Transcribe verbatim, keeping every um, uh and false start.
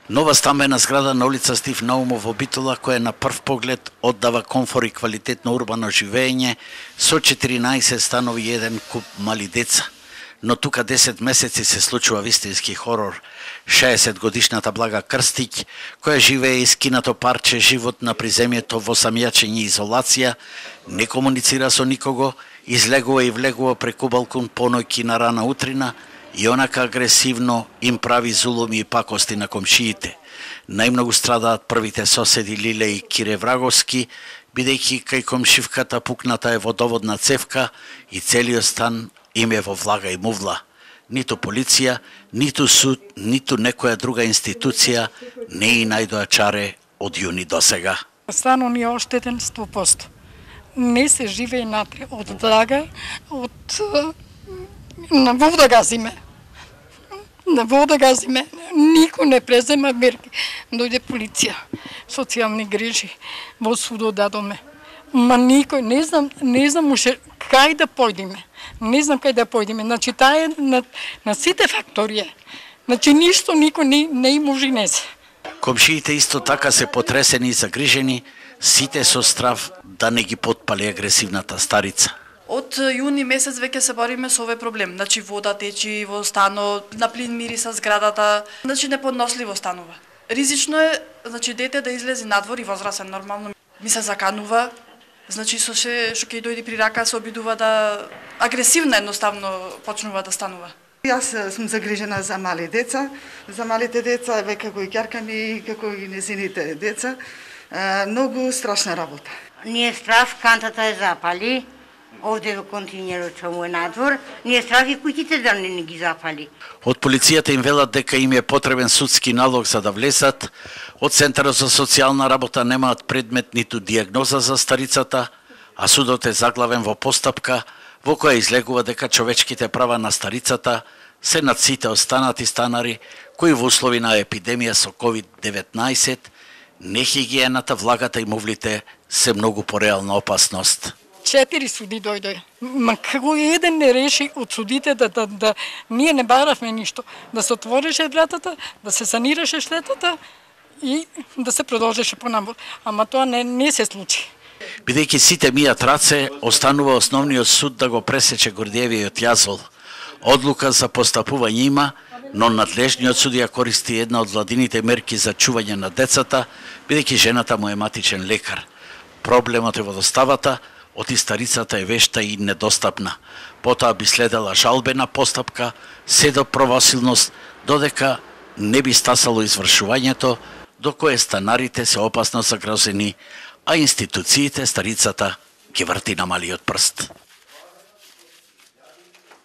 Нова стамбена зграда на улица Стив Наумов во Битола, која на прв поглед оддава комфор и квалитетно урбано живење, со четиринаесет станови и еден куп мали деца. Но тука десет месеци се случува вистински хорор. шеесет годишната Блага Крстиќ, која живее искинато парче живот на приземјето во самјачење и изолација, не комуницира со никого, излегува и влегува преку балкон поноќ и на рана утрина, и онака агресивно им прави зулуми и пакости на комшиите. Најмногу страдаат првите соседи Лиле и Кире Враговски, бидејќи кај комшивката пукната е водоводна цевка и целиот стан им е во влага и мувла. Ниту полиција, ниту суд, ниту некоја друга институција не и најдоа чаре од јуни до сега. Станот ни е оштетен сто проценти. Не се живее натре од влага, од на вода газиме. На вода газиме. Никој не презема мерки. Дојде полиција, социјални грижи, во судот дадоме. Ма никој, не знам, не знам уште кај да појдеме. Не знам кај да појдеме. Значи, таа е на, на сите фактори е. Значи, ништо никој не, не им ужинесе. Комшиите исто така се потресени и загрижени, сите со страв да не ги потпали агресивната старица. Од јуни месец веќе се бориме со овој проблем. Значи вода течи во станот, на плин мириса зградата, значи неподносливо станува. Ризично е, значи дете да излезе надвор и возрасен нормално ми се заканува, значи со се што ќе дојде при рака се обидува да агресивно едноставно почнува да станува. Јас сум загрижена за мали деца, за малите деца, веќе го и ќерка ми, како и незините деца. Многу страшна работа. Ние страв, кантата е запали. Овде во континерот што му е надвор, ние страх и куќите да не ги запали. Од полицијата им велат дека им е потребен судски налог за да влезат. Од Центарот за социјална работа немаат предмет ниту дијагноза за старицата, а судот е заглавен во постапка во која излегува дека човечките права на старицата се над сите останати станари кои во услови на епидемија со ковид деветнаесет, нехигиената, влагата и мувлите се многу пореална опасност. Четири суди дојде. Ма кој еден не реши од судите да, да, да ние не баравме ништо. Да се отвореше вратата, да се санираше штетата и да се продолжеше понамор. Ама тоа не, не се случи. Бидејќи сите мијат раце, останува основниот суд да го пресече Гордиевиот јазол. Одлука за постапување има, но надлежниот судија користи една од владините мерки за чување на децата, бидејќи жената му е матичен лекар. Проблемот е во доставата, од и старицата е вешта и недостапна. Потоа би следела жалбена постапка, се до правосилност, додека не би стасало извршувањето, до кое станарите се опасно загрозени, а институциите старицата ги врти на малиот прст.